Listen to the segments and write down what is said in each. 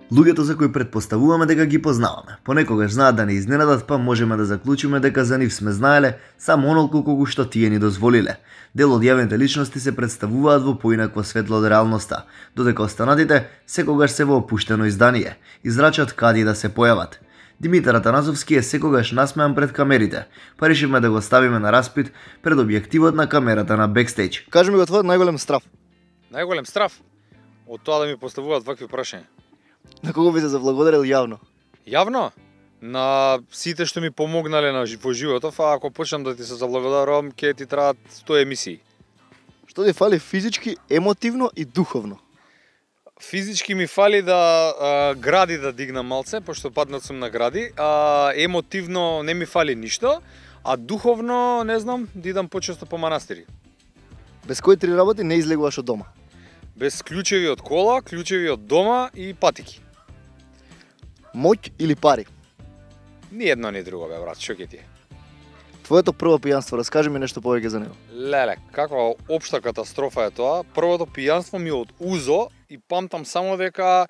Луѓето за кои претпоставуваме дека ги познаваме, понекогаш знаат да не изненадат, па можеме да заклучиме дека за нив сме знаеле само онолку колку што тие ни дозволиле. Дел од јавните личности се представуваат во поинакво светло од реалноста, додека останатите секогаш се во опуштено издание, израчат кади да се појават. Димитар Атанасовски е секогаш насмеан пред камерите, па решивме да го ставиме на распит пред објективот на камерата на Backstage. Кажи ми го твојот најголем страф. Најголем страф од тоа да ми поставуваат вакви прашања. На кого би се заблагодарил јавно? Јавно? На сите што ми помогнале во животов, а ако почнам да ти се заблагодарувам, ќе ти требаат 100 емисии. Што ти фали физички, емотивно и духовно? Физички ми фали да гради да дигнам малце, пошто паднат сум на гради, емотивно не ми фали ништо, а духовно, не знам, да идам почесто по манастири. Без кои три работи не излегуваш од дома? Без клучеви од кола, клучеви од дома и патики. Моќ или пари? Ни едно ни друго, бе, брат, шо ќе ти е? Твоето прво пијанство, раскажи ми нешто повеќе за него. Леле, каква општа катастрофа е тоа. Првото пијанство ми од УЗО и памтам само дека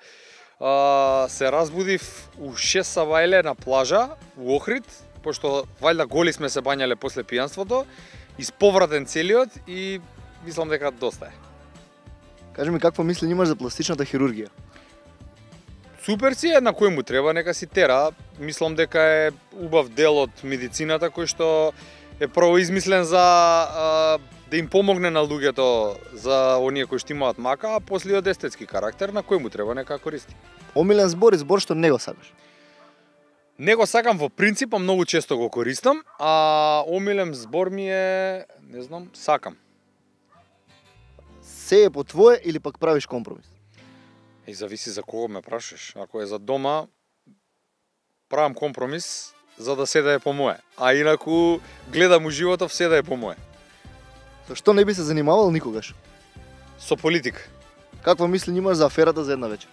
се разбудив у 6 савајле на плажа у Охрид, пошто вајда голи сме се бањале после пијанството, исповратен целиот и мислам дека доста е. Кажи ми какво мислење имаш за пластичната хирургија? Супер си е, на кој му треба, нека си тера. Мислам дека е убав дел од медицината кој што е прво измислен за да им помогне на луѓето за оние кои што имаат мака, а после од естетски карактер, на кој му треба, нека користи. Омилен збор и збор што не го сакаш? Не го сакам во принцип, а многу често го користам, а омилен збор ми е, не знам, сакам. Се е по твое или пак правиш компромис? И зависи за кого ме прашаш. Ако е за дома, правам компромис за да се да е по мое. А инаку гледам у животов се да е по мое. Со што не би се занимавал никогаш? Со политика. Каква мислење имаш за аферата за една вечер?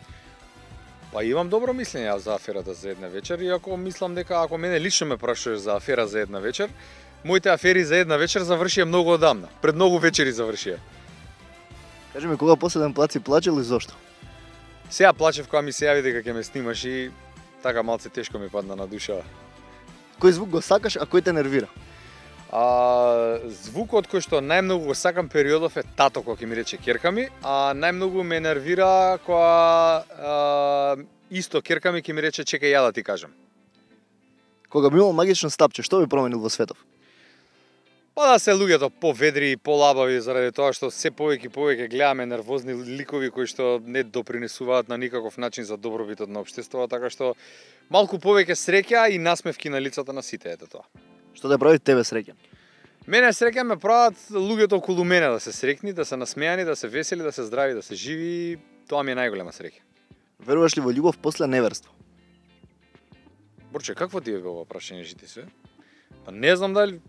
Па имам добро мислење за аферата за една вечер, иако мислам дека ако мене лично ме прашуваш за афера за една вечер, моите афери за една вечер завршија многу одамна. Пред многу вечери завршија. Кажи ми кога последен пат си плачел и зошто? Сега плачев кога ми се јави дека ќе ме снимаш и така малце тешко ми падна на душа. Кој звук го сакаш, а кој те нервира? Звукот кој што најмногу го сакам периодов е тато кога ќе ми рече ќерка ми, а најмногу ме нервира кога исто ќерка ми ќе ми рече чекај ја да ти кажам. Кога би имал магично стапче, што би променил во светов? Па да се луѓето поведри и полабави заради тоа што се повеќе и повеќе гледаме нервозни ликови кои што не допринесуваат на никаков начин за добробитот на општеството, така што малку повеќе среќа и насмевки на лицата на сите, ете тоа. Што те прави тебе среќен? Мене среќа ме прават луѓето околу мене да се среќни, да се насмејани, да се весели, да се здрави, да се живи, тоа ми е најголема среќа. Веруваш ли во љубов после неверство? Борче, какво ти е ова прашање, жити се? Па не знам дали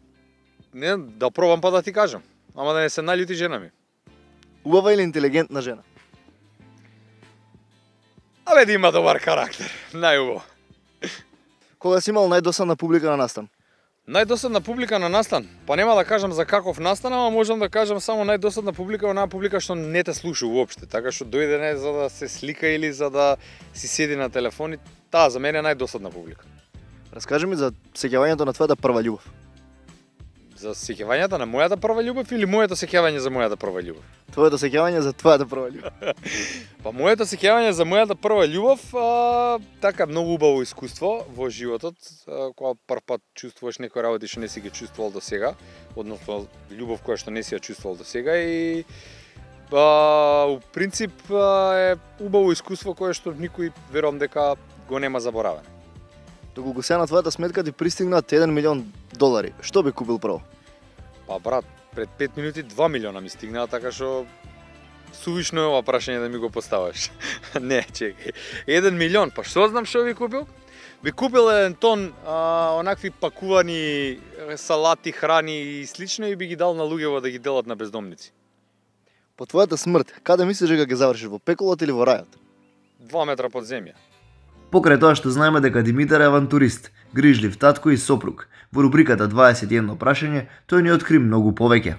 не, да пробам па да ти кажам. Ама да не се наљути жена ми. Убава или интелигентна жена? Абе да има добар карактер. Најубаво. Кога си имал најдосадна публика на настан? Најдосадна публика на настан? Па нема да кажам за каков настан, ама можам да кажам само најдосадна публика, онаа публика што не те слуша уопште. Така што дојде не за да се слика или за да си седи на телефон. Таа за мене е најдосадна публика. Раскажи ми за сеќавањето на твојата прва љубов. За сеќавањата на мојата прва љубов или моето сеќавање за мојата прва ljubов? Твоето сеќавање за твојата прва љубов. Па моето сеќавање за мојата прва љубов, така многу убаво искуство во животот, кога прв пат чувствуваш некои работи што не си ги чувствувал до сега, односно љубов која што не си ја чувствувал до сега и у принцип е убаво искуство кое што никој верувам дека го нема заборавено. Доколку сега на твојата сметка ти пристигнаат $1 милион, што би купил прво? Па брат, пред 5 минути 2 милиона ми стигнаа, така што сувишно е ова прашање да ми го поставаш. Не, чекај. 1 милион, па што знам што би купил? Би купил 1 тон онакви пакувани салати, храни и слично и би ги дал на луѓето да ги делат на бездомници. По твојата смрт, каде мислиш дека ќе завршиш, во пеколот или во рајот? 2 метра под земја. Покрај тоа што знаеме дека Димитар е авантурист, грижлив татко и сопруг, во рубриката 21 прашање тој ни откри многу повеќе.